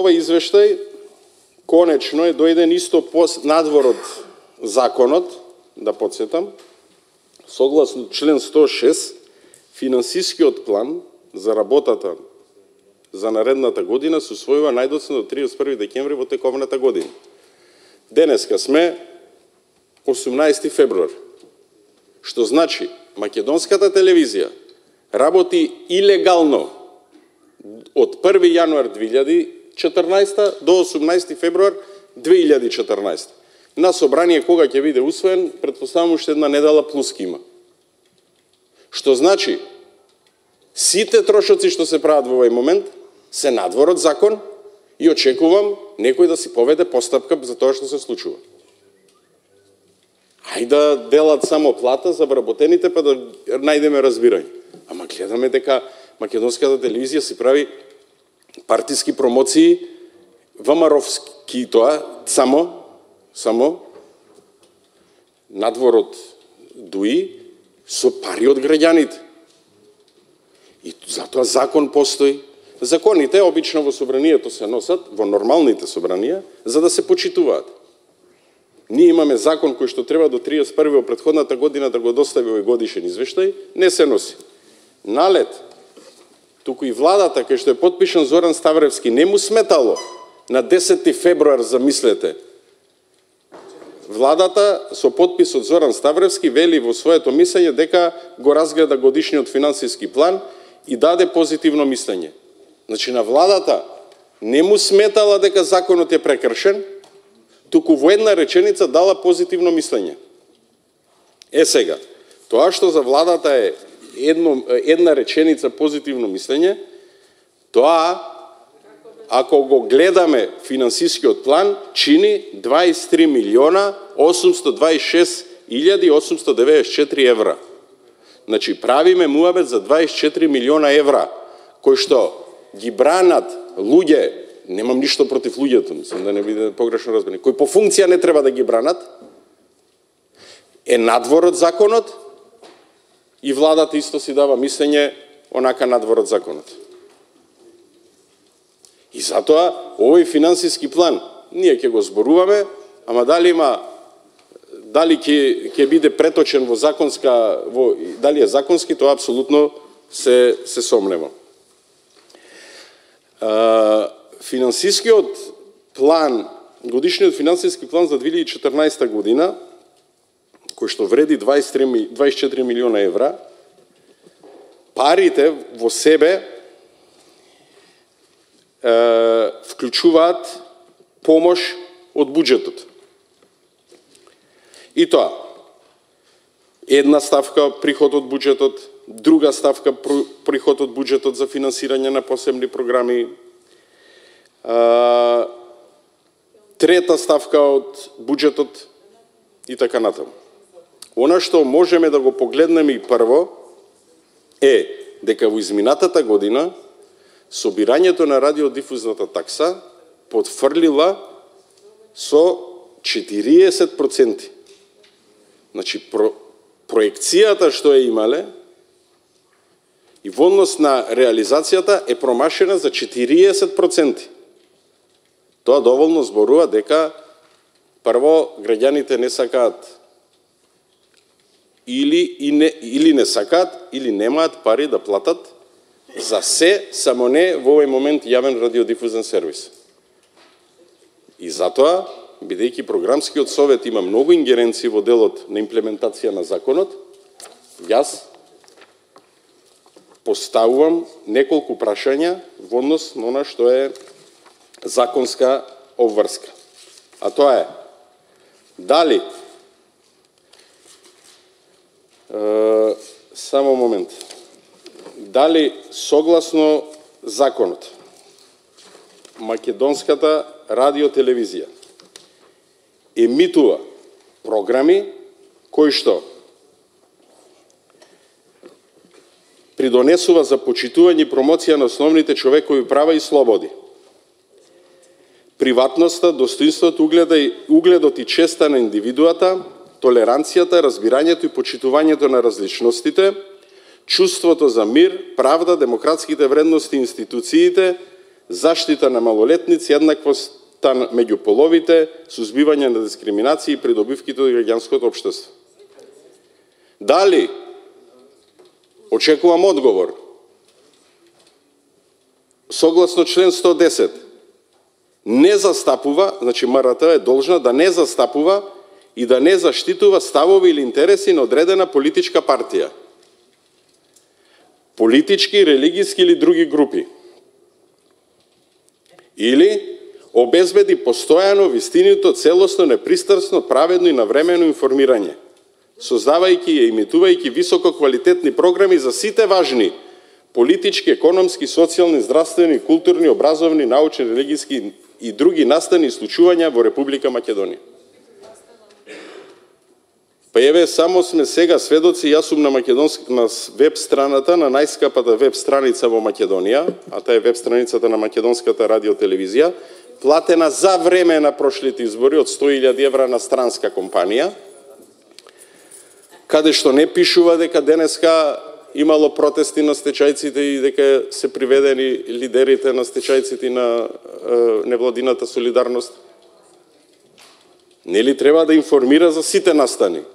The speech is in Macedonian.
овој извештај конечно е дојден исто надвор од законот, да подсетам, согласно член 106, финансискиот план за работата за наредната година се усвојува најдоцна до 31 декември во тековната година. Денеска сме 18 февруар, што значи македонската телевизија работи илегално од 1 јануар 2014 до 18 февруар 2014. На собрание кога ќе биде усвоен, претпоставам уште една недела плюс ќе има. Што значи, сите трошоци што се прават во овој момент се надвор од закон и очекувам некој да си поведе постапка за тоа што се случува. Ајде да делат само плата за вработените, па да најдеме разбирање. Ама гледаме дека македонската телевизија си прави партиски промоции, ВМРО-вски тоа, само надвор од ДУИ со пари од граѓаните. И затоа закон постои. Законите обично во собранието се носат, во нормалните собранија, за да се почитуваат. Ние имаме закон кој што треба до 31 во претходната година да го достави овој годишен извештај, не се носи. Налет, туку и владата, кај што е потпишан Зоран Ставревски, не му сметало на 10 февруар, замислете. Владата со потпис од Зоран Ставревски вели во своето мислење дека го разгледа годишниот финансиски план и даде позитивно мислење. Значи на владата не му сметала дека законот е прекршен, туку во една реченица дала позитивно мислење. Сега, тоа што за владата е една реченица позитивно мислење, тоа, ако го гледаме финансискиот план, чини 23 милиона 826 894 евра. Значи, правиме муабет за 24 милиона евра, кои што ги бранат луѓе, немам ништо против луѓето, мислам да не биде погрешно разбрани, кои по функција не треба да ги бранат, е надвор од законот и владата исто си дава мислење онака надвор од законот. И затоа овој финансиски план ние ќе го зборуваме, ама дали ќе биде преточен во законска, дали е законски, тоа апсолутно се сомневам. Финансискиот план, годишниот финансиски план за 2014 година, кој што вреди 24 милиона евра, парите во себе вклучуваат помош од буџетот. И тоа, една ставка приход од буџетот, друга ставка приход од буџетот за финансирање на посебни програми, трета ставка од буџетот и така натаму. Она што можеме да го погледнеме и прво е дека во изминатата година собирањето на радиодифузната такса потфрлила со 40%. Значи, проекцијата што е имале и во однос на реализацијата е промашена за 40%. Тоа доволно зборува дека прво граѓаните не сакаат или не сакаат, или немаат пари да платат за се, само не во овој момент јавен радиодифузен сервис. И затоа, бидејќи програмскиот совет има многу ингеренции во делот на имплементација на законот, јас поставувам неколку прашања во однос на она што е законска обврска. А тоа е, дали, само момент, дали согласно законот македонската радиотелевизија емитува програми кои што придонесува за почитување и промоција на основните човекови права и слободи, приватноста, достоинството, угледот и честа на индивидуата, толеранцијата, разбирањето и почитувањето на различностите, чувството за мир, правда, демократските вредности и институциите, заштита на малолетници, еднаквоста меѓу половите, сузбивање на дискриминација и придобивките од граѓанското општество. Дали, очекувам одговор, согласно член 110, не застапува, значи МРТ е должна да не застапува и да не заштитува ставови или интереси на одредена политичка партија, политички, религиски или други групи, или обезбеди постојано, вистинито, целосно, непристрасно, праведно и навремено информирање, создавајќи и емитувајќи високо квалитетни програми за сите важни политички, економски, социјални, здравствени, културни, образовни, научни, религиски и други настани и случувања во Република Македонија. Па еве, само сме сега сведоци, јас сум на веб страната, на најскапата веб страница во Македонија, а таа е веб страницата на Македонската радиотелевизија, платена за време на прошлите избори од 100.000 евра на странска компанија, каде што не пишува дека денеска имало протести на стечајците и дека се приведени лидерите на стечајците на невладината солидарност. Нели треба да информира за сите настани?